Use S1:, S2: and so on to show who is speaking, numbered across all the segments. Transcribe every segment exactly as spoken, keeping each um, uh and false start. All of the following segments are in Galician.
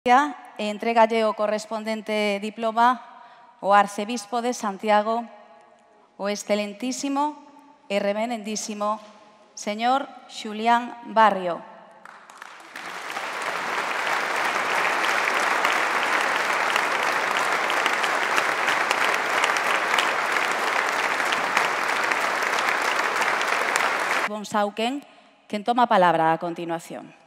S1: E entrégalle o correspondente diploma o arcebispo de Santiago, o excelentísimo e reverendísimo señor Xulián Barrio. Bonsauquen, quen toma a palabra a continuación.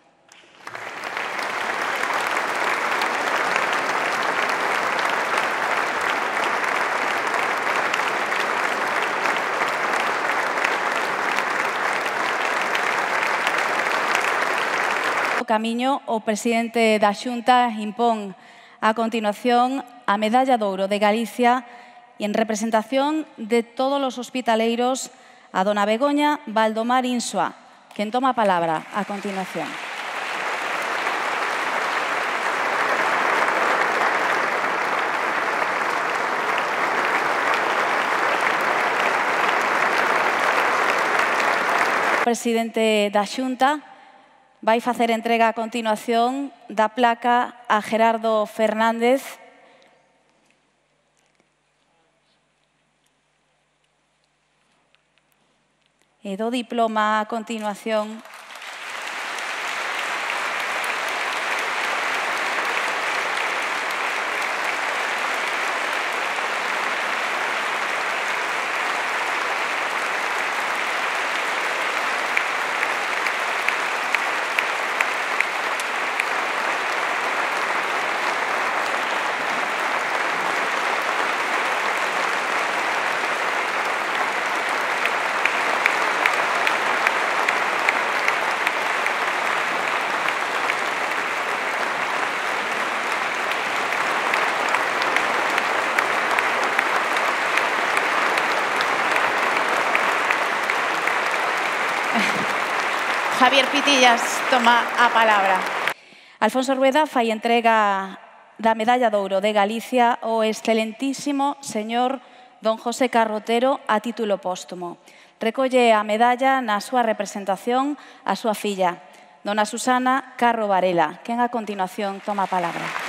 S1: Camiño, o presidente da Xunta impón a continuación a Medalla de Ouro de Galicia e en representación de todos os hospitaleiros a dona Begoña Valdomar Insua, quen toma a palabra a continuación. O presidente da Xunta vai facer entrega a continuación da placa a Gerardo Fernández e do diploma a continuación Javier Pitillas toma a palabra. Alfonso Rueda fai entrega da Medalla de Ouro de Galicia ao excelentísimo señor don José Carrotero a título póstumo. Recolle a medalla na súa representación a súa filla, dona Susana Carro Varela, quen a continuación toma a palabra.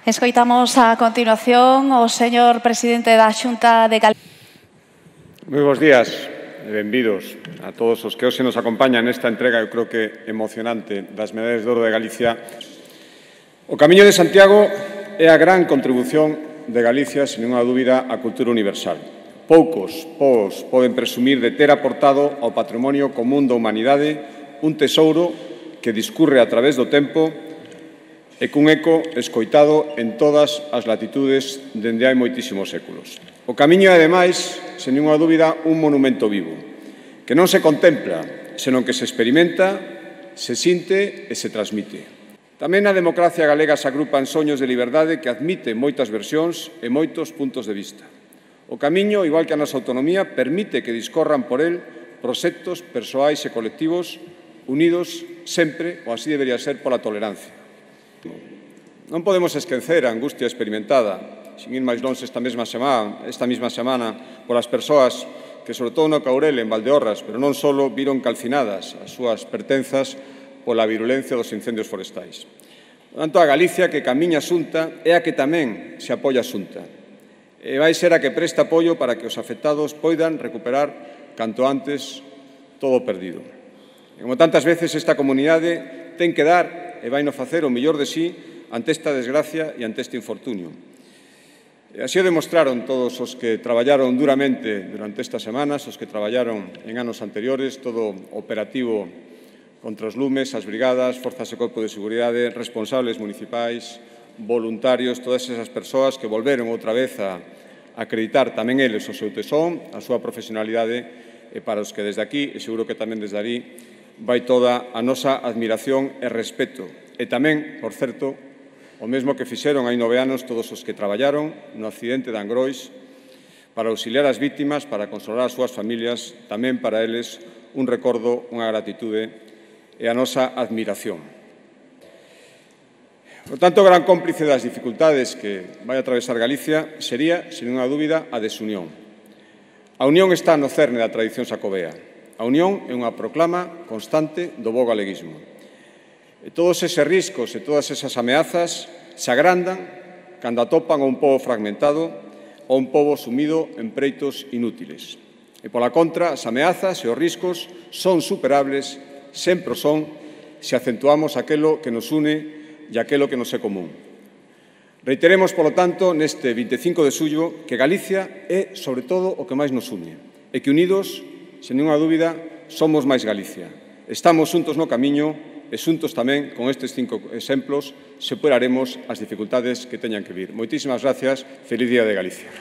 S1: Escoitamos a continuación o señor presidente da Xunta de Galicia.
S2: Moi bons días e benvidos a todos os que hoxe nos acompañan nesta entrega, eu creo que emocionante, das Medallas de Ouro de Galicia. O Camiño de Santiago é a gran contribución de Galicia, sin ninguna dúbida, á cultura universal. Poucos povos poden presumir de ter aportado ao patrimonio común da humanidade un tesouro que discurre a través do tempo e cun eco escoitado en todas as latitudes dende hai moitísimos séculos. O Camiño é, ademais, sen ninguna dúbida, un monumento vivo, que non se contempla, senón que se experimenta, se sinte e se transmite. Tamén na democracia galega se agrupan soños de liberdade que admiten moitas versións e moitos puntos de vista. O Camiño, igual que a nosa autonomía, permite que discorran por el proxectos persoais e colectivos unidos sempre, ou así debería ser, pola tolerancia. Non podemos esquecer a angustia experimentada, sin ir máis longe esta mesma semana, esta mesma semana polas persoas que, sobre todo no Caurel, en Valdeorras, pero non só, viron calcinadas as súas pertenzas pola virulencia dos incendios forestais. Por tanto, a Galicia que camiña a Xunta é a que tamén se apoia a Xunta. E vai ser a que presta apoio para que os afectados poidan recuperar canto antes todo o perdido. E como tantas veces esta comunidade ten que dar e vai no facer o mellor de sí ante esta desgracia e ante este infortunio. E así o demostraron todos os que traballaron duramente durante estas semanas, os que traballaron en anos anteriores, todo operativo contra os lumes, as brigadas, forzas e corpo de seguridade, responsables municipais, voluntarios, todas esas persoas que volveron outra vez a acreditar tamén eles o seu tesón, a súa profesionalidade, e para os que desde aquí, e seguro que tamén desde ali, vai toda a nosa admiración e respeto. E tamén, por certo, o mesmo que fixeron hai nove anos todos os que traballaron no accidente de Angrois para auxiliar as vítimas, para consolar as súas familias, tamén para eles un recordo, unha gratitude e a nosa admiración. Por tanto, o gran cómplice das dificultades que vai atravesar Galicia sería, sen unha dúbida, a desunión. A unión está no cerne da tradición xacobea. A unión é unha proclama constante do bo galeguismo. E todos eses riscos e todas esas ameazas se agrandan cando atopan a un pobo fragmentado ou un pobo sumido en preitos inútiles. E, pola contra, as ameazas e os riscos son superables, sempre o son, se acentuamos aquelo que nos une e aquelo que nos é común. Reiteremos, polo tanto, neste vinte e cinco de xullo, que Galicia é, sobre todo, o que máis nos une, e que unidos, sen ninguna dúbida, somos máis Galicia. Estamos xuntos no camiño e xuntos tamén, con estes cinco exemplos, superaremos as dificultades que teñan que vir. Moitísimas gracias. Feliz Día de Galicia.